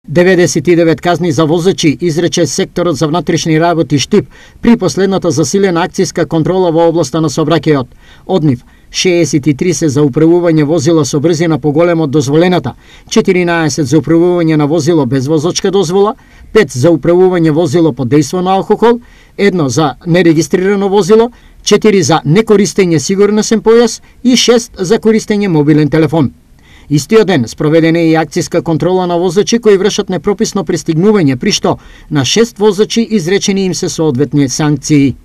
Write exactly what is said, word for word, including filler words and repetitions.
деветдесет и девет казни за возачи изрече секторот за внатрешни работи Штип при последната засилена акцијска контрола во областа на сообраќајот. Од нив шеесет и три се за управување возила со брзина поголема од дозволената, четиринаесет за управување на возило без возачка дозвола, пет за управување возило под дејство на алкохол, едно за нерегистрирано возило, четири за некористење сигурносен појас и шест за користење мобилен телефон. Истиот ден спроведена е и акцијска контрола на возачи кои вршат непрописно пристигнување, при што на шест возачи изречени им се соодветни санкции.